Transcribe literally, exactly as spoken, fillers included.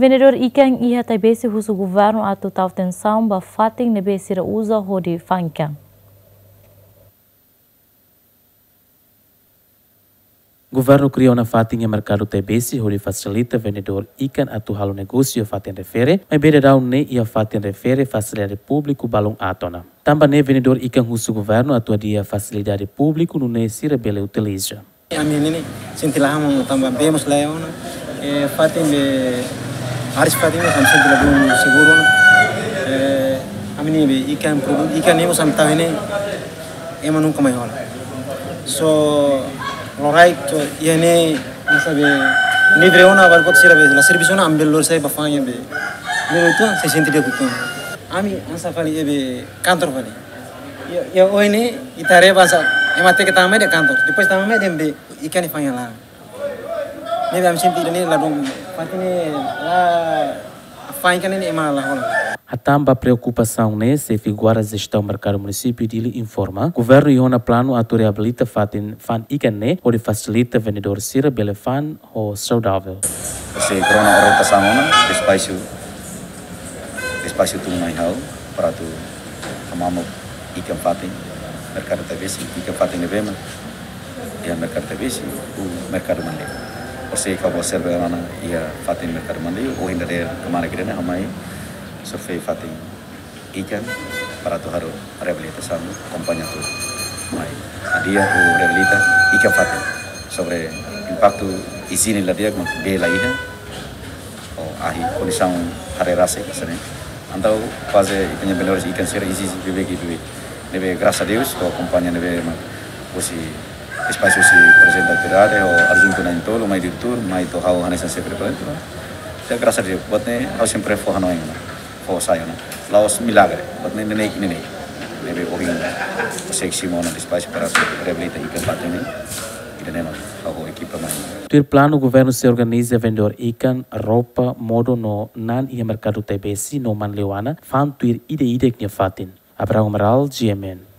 Vendedór ikan iha Taibesi husu governu atu tau atensaun ba fatin ne'ebé sira uza hodi fa'an ikan. Governu kria ona fatin iha merkadu Taibesi hodi fasilita vendedór ikan atu halo negósiu iha fatin refere, maibé daudaun ne'e iha fatin refere fasilidade públiku balun aat ona. Tanba ne'e vendedór ikan husu governu atu hadi'a fasilidade públiku nune'e sira bele utiliza. Ami ne'e sente la hamoon tanba bee mós laiha ona. Eh, fatin be haris fatin be ami sente ladún seguru ona. Eh, ami ne'e be ikan produtu ikan ne'e mós ami tau ne'e ema nunka mai hola. So, loraik to iha ne'e hanesan be livre ona, agora buat sira be la servisu ona, ami bele lori sai ba fa'an iha be. Bele tuan, se sente dia kutuan. Ami hanesan fali iha be kantor fali. Iha, iha oin ne'e, ita haree ba hanesan, ema hateke tama mai de'it kantor. Depois tama mai de'it be ikan ne'e fa'an iha laran. Ne'ebé ami sente ida-ne'e ladún, fatin ne'e la fa'an ikan ne'e ema la hola. Hatán ba preokupasaun ne'e, xefe guarda jestaun merkadu munisípiu Dili informa, governu iha ona planu atu reabilita fatin fa'an ikan ne'e, hodi fasilita vendedór sira bele fa'an ho saudavel. Sei rona orientasaun ona, despásiu, despásiu tun mai ha'u, para atu hamamuk ikan fatin, merkadu Taibesi, ikan fatin ne'ebé mak iha merkadu Taibesi, ho merkadu Manleu. Orsida ha'u observa ona iha fatin merkadu Manleu, ohin dadeer kemarin kira-kira ha'u mai survei fatin ikan para atu halo reabilitasaun, akompaña atu mai hadi'a ho reabilita ikan fatin. Sobre impaktu iziene la di'ak mak bee la iha, ho ahi kondisaun haree rasik hanesan ne'e. Entaun kuaze ita-nia vendedores ikan sira ezije beibeik, beibeik. Ne'ebé grasas a Deus, ho akompaña ne'ebé mak husi despásiu husi prezidente autoridade, ho adjuntu na'in-tolu, mai diretór, mai to'o ha'u hanesan xefe departamentu. Ya grasas a Deus, buat ne'e ha'u sempre fó hanoin ona, fó sai ona. La'ós milagre, buat ne'e neineik, neineik. Ne'ebé ohin, sei simu ona despásiu para reabilita ikan fatin ne'e. Ida-ne'e mak ha'u ho ekipa mai. Tuir planu governu sei organiza vendedór ikan, roupa, modo no na'an iha merkadu Taibesi no Manleu ona, fa'an tuir ida-idak nia fatin. Abraham Amaral, G M N.